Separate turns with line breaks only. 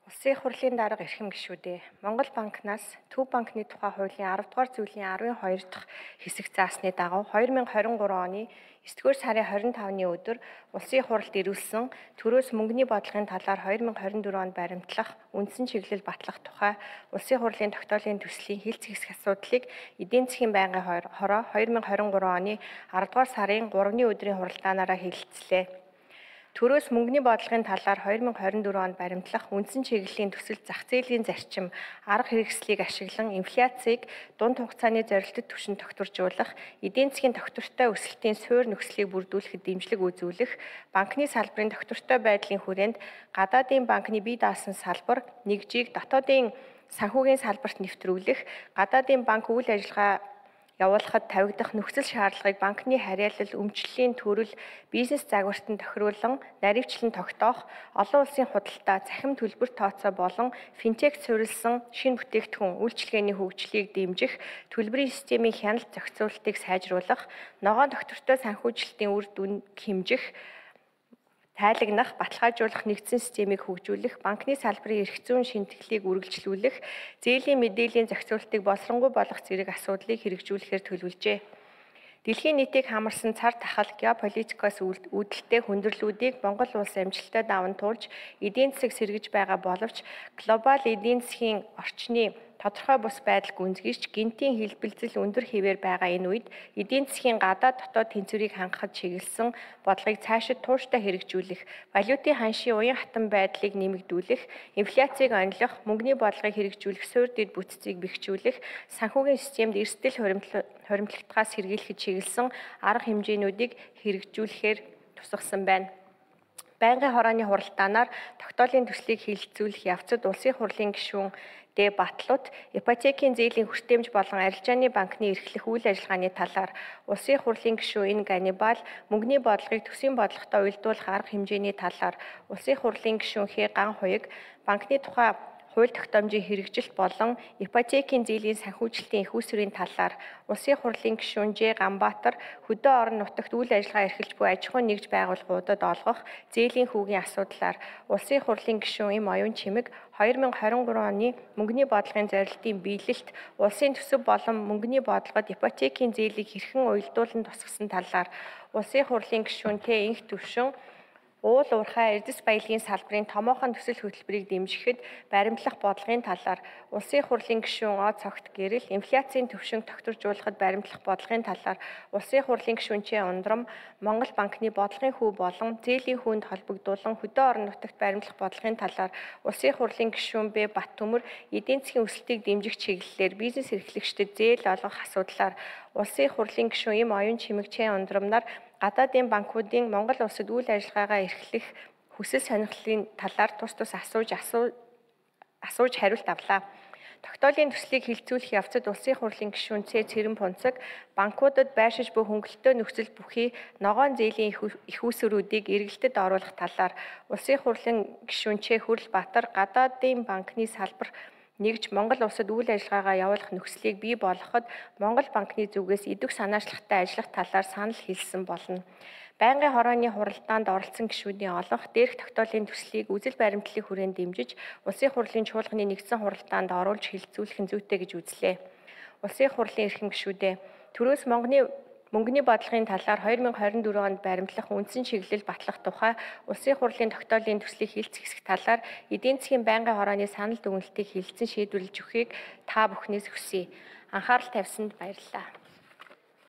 Улсын их хурлын дарга эрхэм гишүүдээ Монгол банкнаас Төв банкны тухай хуулийн 10 дугаар зүйлийн 12 дахь хэсэг заасны дагуу 2023 оны 9-р сарын 25-ны өдөр Улсын их хурлд ирүүлсэн төрөөс мөнгөний бодлогын талаар 2024 онд баримтлах үндсэн чиглэл батлах тухай Улсын их хурлын тогтоолын төслийн хэлц хэсэг асуудлыг эдийн засгийн байнгын хороо 2023 оны 10 дугаар сарын 3-ны өдрийн хуралдаанаараа хэлэлцлээ. Төрөөс мөнгөний бодлогын талаар 2024 онд баримтлах үндсэн чиглэлийн төсөл зах зээлийн зарчим, арга хэрэгслийг ашиглан инфляцийг дунд хугацааны зорилттой түвшинд тогтворжуулах, эдийн засгийн тогтвортой өсөлтийн суурь нөхцөлийг бүрдүүлэхэд дэмжлэг үзүүлэх, банкны салбарын тогтвортой байдлын хүрээнд гадаадын банкны бие даасан салбар, нэгжийг дотоодын санхүүгийн салбарт нэвтрүүлэх, гадаадын банк үйл ажиллагаа явуулахад тавигдах нөхцөл шаардлагыг банкны харьяалал, өмчлөлийн төрөл, бизнес загвартанд тохируулан наривчлан тогтоох, олон улсын худалдаа, цахим төлбөр тооцоо болон финтек суурилсан шинэ бүтээгдэхүүн үйлчилгээний хөгжлийг дэмжих, төлбөрийн системийн хяналт зохицуулалтыг сайжруулах, ногоон тогтвортой санхүүжилтийн үр дүн хэмжих, тайлагнах, баталгаажуулах нэгдсэн системийг хөгжүүлэх, банкны салбарын эрх зүйн шинтгэлийг үргэлжлүүлэх, зээлийн мэдээллийн зохицуулалтыг боловсронгуй болгох зэрэг асуудлыг хэрэгжүүлэхээр төлөвлөжээ. Дэлхийн нийтийг хамарсан цар тахал геополитикоос үүдэлтэй хүндрэлүүдийг Монгол улс амжилттай даван туулж, эдийн засаг сэргэж байгаа боловч глобал эдийн засгийн орчны тодорхой бус байдал гүнзгийж гинтийн хэлбэлзэл өндөр хэвээр байгаа энэ үед эдийн засгийн гадаад дотоод тэнцвэрийг хангахад чиглэсэн бодлогыг цаашид тууштай хэрэгжүүлэх, валютын ханшийн уян хатан байдлыг нэмэгдүүлэх, инфляцийг онилох, мөнгөний бодлогыг хэрэгжүүлэх, суурь дэд бүтцийг бэхжүүлэх, санхүүгийн системд эрсдэл хуримтлагтахаас сэргийлэхэд чиглэсэн арга хэмжээнүүдийг хэрэгжүүлэхээр тусгасан байна. Байнгын хорооны хуралдаанаар тогтоолын төслийг хэлэлцүүлэх явцад Улсын хурлын гишүүн Д. Батлут ипотекийн зээлийн хүртээмж болон арилжааны банкны эрхлэх үйл ажиллагааны талаар Улсын хурлын гишүүн Н. Ганнибал мөнгөний бодлогыг төсвийн бодлоготой уялдуулах арга хэмжээний талаар Улсын хурлын гишүүн Х. Ганхуйг банкны тухай хууль тогтоомжийн хэрэгжилт болон ипотекийн зээлийн санхүүжилтийн их үүсвэрийн талаар Улсын хурлын гишүүн Ж. Ганбаатар хөдөө орон нутагт үйл ажиллагаа эрхэлж буй аж ахуйн нэгж байгууллагуудад олгох зээлийн хүүгийн асуудлаар Улсын хурлын гишүүн М. Оюун Чимэг 2023 оны мөнгөний бодлогын зорилтын биелэлт, улсын төсөв болон мөнгөний бодлогод ипотекийн зээлийг хэрхэн уялдуулан тусгасан талаар Улсын хурлын гишүүн Т. Инх Төвшин уул уурхай эрдэс баялагын салбарын томоохон төсөл хөтөлбөрийг дэмжихэд баримтлах бодлогын талаар Улсын хурлын гишүүн О. Цогт гэрэл инфляцийн түвшинг тогтворжуулахад баримтлах бодлогын талаар Улсын хурлын гишүүн Ч. Ундрам Монгол банкны бодлогын хүү болон зээлийн хүүнд холбогдуулан хөдөө орон нутагт баримтлах бодлогын талаар Улсын хурлын гишүүн Б. Баттөмөр эдийн засгийн өсөлтийг дэмжих чиглэлээр бизнес эрхлэгчдэд зээл олгох асуудлаар Улсын хурлын гишүүн М. Оюун Чимэг Ч. Ундрам нар гадаадын банкуудын Монгол улсад үйл ажиллагаагаа эрхлэх хүсэл сонирхлын талаар тус асууж хариулт авлаа. Тогтоолын төслийг хэлэлцүүлэх явцад Улсын хурлын гишүүн Ц. Цэрэн Пунцаг банкудад байршиж буй хөнгөлөлтөө нөхцөл бүхий ногоон зээлийн их үүсвэрүүдийг эргэлтэд оруулах талаар Улсын хурлын гишүүн Ч. Хүрлбаатар гадаадын банкны салбар нэгж Монгол улсад үйл ажиллагаагаа явуулах нөхцөлийг бий болгоход Монгол банкны зүгээс идэх санаачлагтай ажиллах талаар санал хэлсэн болно. Байнгын хорооны хуралдаанд оролцсон гишүүдийн олонх дээрх тогтоолын төслийг үзэл баримтлалын хүрээнд дэмжиж Улсын хурлын чуулганы нэгдсэн хуралдаанд оруулж хэлэлцүүлэх нь зүйтэй гэж үзлээ. Улсын хурлын эрхэм гишүүдээ төрөөс мөнгөний бодлогын талаар 2024 онд баримтлах үндсэн чиглэл батлах тухай Улсын хурлын тогтоолын төслийг хэлц хэсэг талаар эдийн засгийн байнгын хорооны санал дүгнэлтийг хэлэлцэн шийдвэрлэж өгөхийг та бүхнээс хүсье. Анхаарал тавьсанд баярлалаа.